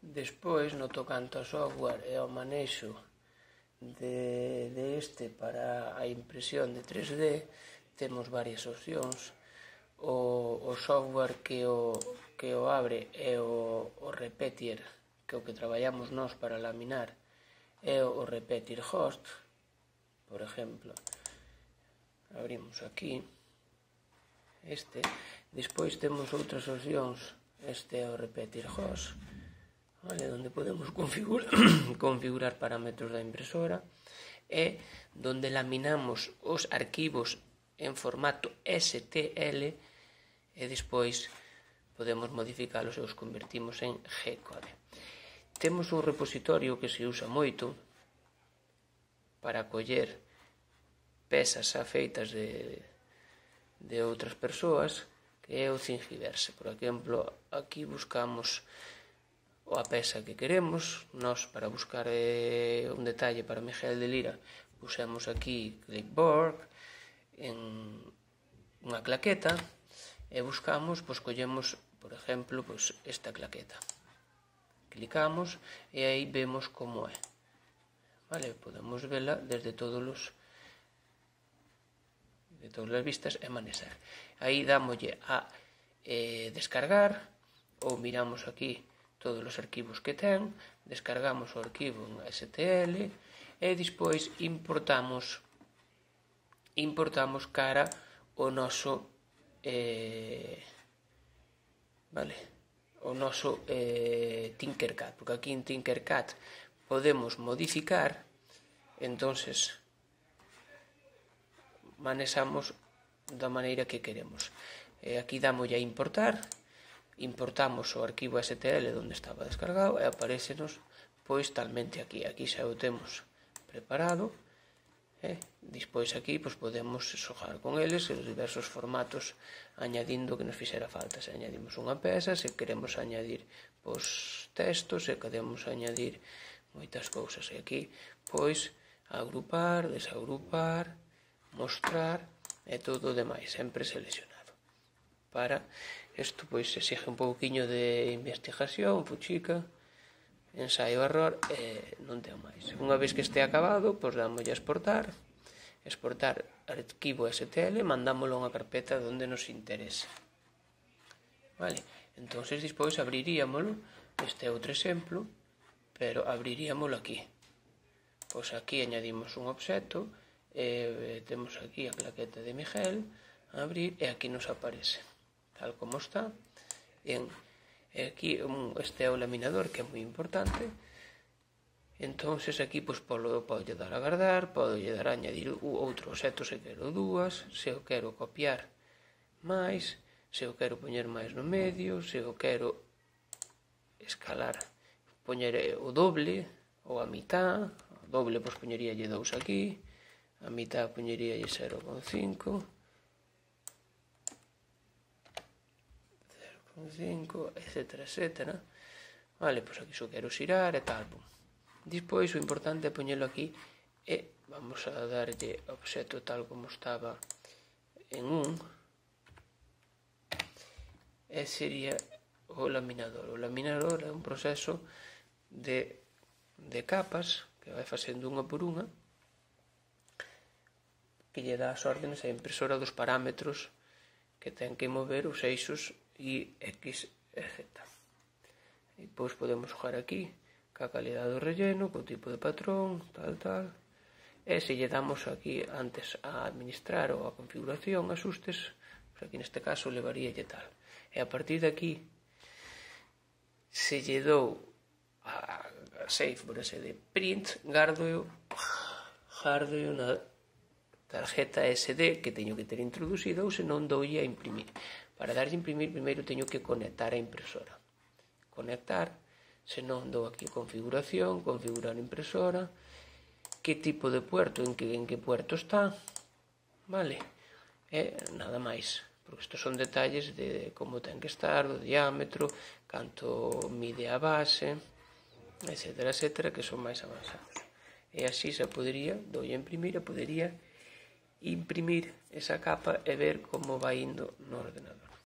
Despois, no tocante ao software e ao manexo de este para a impresión de 3D, temos varias opcións. O software que o abre é o Repetier, que é o que traballamos nós para laminar, é o Repetier Host. Por exemplo, abrimos aquí este. Despois temos outras opcións. Este é o Repetier Host, vale, onde podemos configurar parámetros da impresora, e donde laminamos os arquivos en formato STL e despois podemos modificalos e os convertimos en G-code. Temos un repositorio que se usa moito para coller pezas afeitas de outras persoas, que é o Thingiverse. Por exemplo, aquí buscamos a peza que queremos. Nos, para buscar un detalle para Miguel de Lira, pusemos aquí clipboard en unha claqueta e buscamos, collemos, por exemplo, esta claqueta. Clicamos e aí vemos como é. Vale, podemos vela desde todas as vistas e manexar. Aí dámoslle a descargar, ou miramos aquí todos os arquivos que ten, descargamos o arquivo en STL e despois importamos cara o noso Tinkercad, porque aquí en Tinkercad podemos modificar, entonces manexamos da maneira que queremos. Aquí damos a importar, importamos o arquivo STL onde estaba descargado e aparecenos talmente aquí xa o temos preparado. Despois aquí podemos xogar con eles en os diversos formatos, añadindo que nos fixera falta. Se añadimos unha peza, se queremos añadir textos, se queremos añadir moitas cousas. E aquí agrupar, desagrupar, mostrar e todo o demais, sempre seleccionado. Para isto exixe un pouquiño de investigación, fuchica, ensaio error e non ten máis. Unha vez que este acabado, damos a exportar arquivo STL, mandámoslo a unha carpeta onde nos interese. Vale, entón despois abriríamoslo, este é outro exemplo, pero abriríamoslo aquí. Aquí añadimos un obxecto, temos aquí a claqueta de Miguel, abrir, e aquí nos aparece tal como está. Aquí este é o laminador, que é moi importante. Entón aquí pode dar a guardar, pode dar a añadir outro obxecto se quero dúas, se eu quero copiar máis, se eu quero poñer máis no medio, se eu quero escalar, poñer o doble ou a mitad. O doble poñeríalle 2 aquí, a mitad poñeríalle 0,5, 0,5, etc. Vale, aquí só quero xirar e tal. Despois o importante é poñelo aquí e vamos a darlle o obxecto tal como estaba en e sería o laminador. O laminador é un proceso de capas que vai facendo unha por unha, que lle dá as órdenes á impresora dos parámetros que ten que mover os eixos Y, X e Z. E depois podemos xogar aquí ca calidade do relleno, co tipo de patrón, tal. E se lle damos aquí antes a administrar ou a configuración, asustes, aquí neste caso levaríalle tal. E a partir de aquí, se lle dou a save por ese de print, gardo na tarjeta SD que teño que ter introducido, ou senón doulle a imprimir. Para darlle a imprimir, primeiro teño que conectar a impresora. Conectar, senón dou aquí configuración, configurar impresora, que tipo de puerto, en que puerto está, vale? E nada máis, porque estes son detalles de como ten que estar, do diámetro, canto mide a base, etc., que son máis avanzados. E así se podería, doulle a imprimir, e podería imprimir esa capa e ver como vai indo no ordenador.